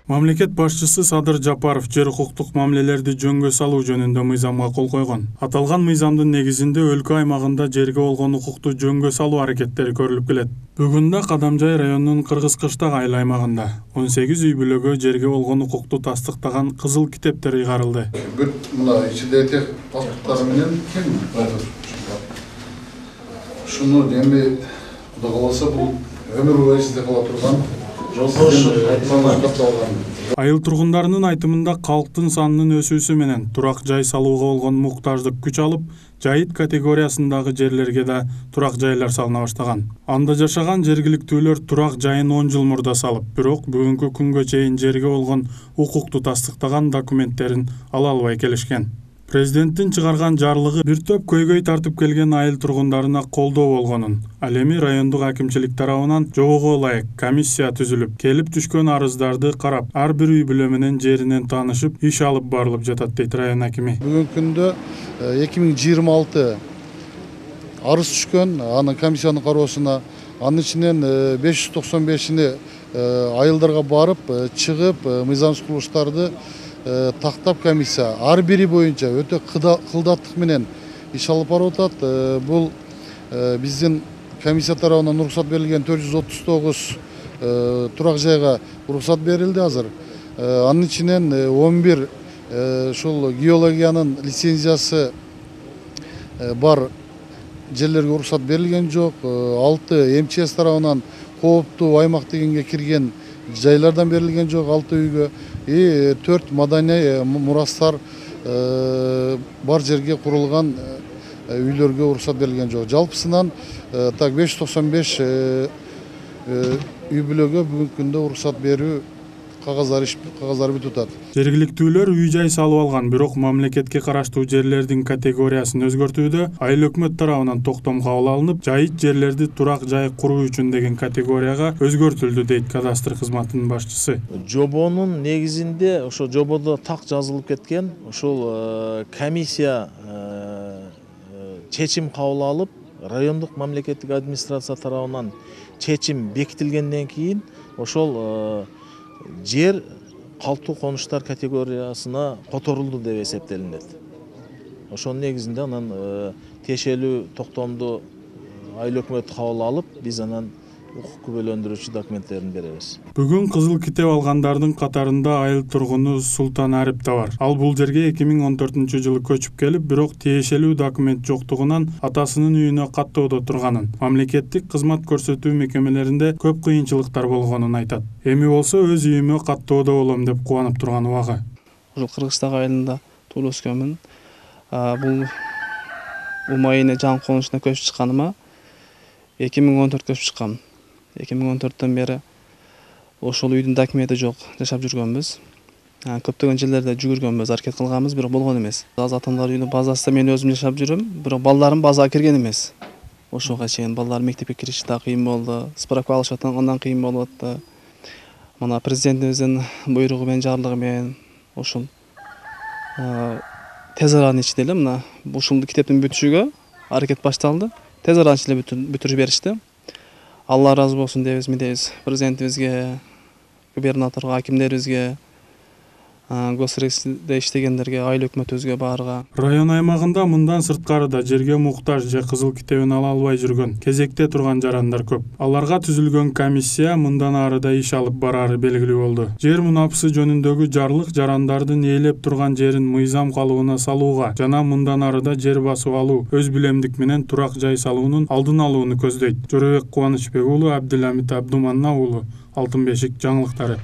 Мамлекет башчысы Садыр Жапаров жер укуктук мамилелерди жөнгө салуу жөнүндө мыйзамга кол койгон. Аталган мыйзамдын негизинде өлкө аймагында жерге болгон укукту жөнгө салуу аракеттери көрүлүп келет. Бүгүн да Кадамжай районунун Кыргыз Кыштак айыл аймагында 18 үй бүлөгө жерге болгон укукту тастыктаган кызыл китептер ыйгарылды. Бүт мына ичинде тех паспорттары менен ким ушуну эми Кудай кааласа бул өмүр бою сизде кала турган айыл тургундарынын айтымында калктын санынын өсүүсү менен турак жай салууга болгон муктаждык күч алып, жайыт категориясындагы жерлерге да турак жайлар салына баштаган. Анда жашаган жергиликтүүлөр турак жайын 10 жыл мурда салып, бирок бүгүнкү күнгө чейин жерге болгон укукту тастыктаган документтерин ала албай келишкен. Президенттин чыгарган жарлыгы бир топ көйгөй тартып келген айыл тургундарына колдоо болгонун, ал эми райондук акимчилик тарабынан жобого ылайык комиссия түзүлүп, келип түшкөн арыздарды карап, ар бир үй бүлө менен жеринен таанышып, иш алып барылып жатат дейт район акими. Бүгүнкү күндө 2026 арыз түшкөн, анын комиссиянын кароосуна, анын ичинен 595-ини айылдарга барып, чыгып, мыйзамсыз курулуштарды тактап комиссия ар бири боюнча өтө кылдаттык менен иш алып барып атат. Бул биздин комиссия тарабынан уруксат берилген 439 турак жайга уруксат берилди азыр. Анын ичинен 11 ушул геологиянын лицензиясы бар жерлерге уруксат берилген жок. 6 МЧС тарабынан кооптуу аймак дегенге кирген жайлардан берилген жок 6 үйгө. 4 маданий мурастар бар жерге курулган үйлөргө уруксат берилген жок. Жалпысынан так 595 үй бүлөгө бүгүнкү күндө уруксат берүү кагаздары бүтүп атат. Жергиликтүүлөр үй жай салып алган, бирок мамлекетке караштуу жерлердин категориясын өзгөртүүдө айыл өкмөт тарабынан токтом кабыл алынып, жайыт жерлерди турак жай куруу үчүн деген категорияга өзгөртүлдү дейт кадастр кызматынын башчысы. Жобонун негизинде ошо жободо так жазылып кеткен, ошол комиссия чечим кабыл алып, райондук мамлекеттик администрация тарабынан чечим бекитилгенден кийин ошол жер калктуу конуштар категориясына которулду деп эсептелинет. Ошонун негизинде анан тиешелүү токтомду айыл өкмөтү кабыл алып, биз анан укук күбөлөндүрүүчү документтерин беребиз. Бүгүн кызыл китеп алгандардын катарында айыл тургуну Султан Арип да бар. Ал бул жерге 2014-жылы көчүп келип, бирок тиешелүү документ жоктугунан атасынын үйүнө каттоодо турганын, мамлекеттик кызмат көрсөтүү мекемелеринде көп кыйынчылыктар болгонун айтат. Эми болсо өз үйүмө каттоодо болом деп кубанып турган убагы. Ушул Кыргызстак айылында туулуп өскөнмүн. Бул Умайыне жаңы конушуна көчүп чыкканыма 2014 көчүп чыккам. 2014-төн бери ошол үйдүн документи жок жашап жүргөнбүз. Көптөгөн жерлерде жүгүргөнбүз, аракет кылганбыз, бирок болгон эмес. Аз атамдар үйүнүн базасында мен өзүм жашап жүрөм, бирок балдарым базага кирген эмес. Ошого чейин балдар мектепке кириши да кыйын болду, справка алышы андан кыйын болуп атты. Мына президентибиздин буйругу менен, жарлыгы менен ушул тез аранын ичинде эле мына ушул китептин бүтүшүгө аракет башталды. Тез аранын ичинде бүтүрүп беришти. Алла разы болсун дейбиз президентибизге, губернаторго, акимдерибизге, госрегистрде иштегендерге, айыл өкмөтүбүзгө баарга. Район аймагында мындан сырткарыда жерге муктаж же кызыл китебин ала албай жүргөн, кезекте турган жарандар көп. Аларга түзүлгөн комиссия мындан ары да иш алып барары белгилүү болду. Жер мунапысы жөнүндөгү жарлык жарандардын ээлеп турган жерин мыйзам калыбына салууга жана мындан ары да жер басып алуу, өз билемдик менен турак жай салуунун алдын алууну көздөйт. Жорабек Кубанычбек уулу, Абдыламит Абдуманна уулу, Алтын бешик жаңылыктары.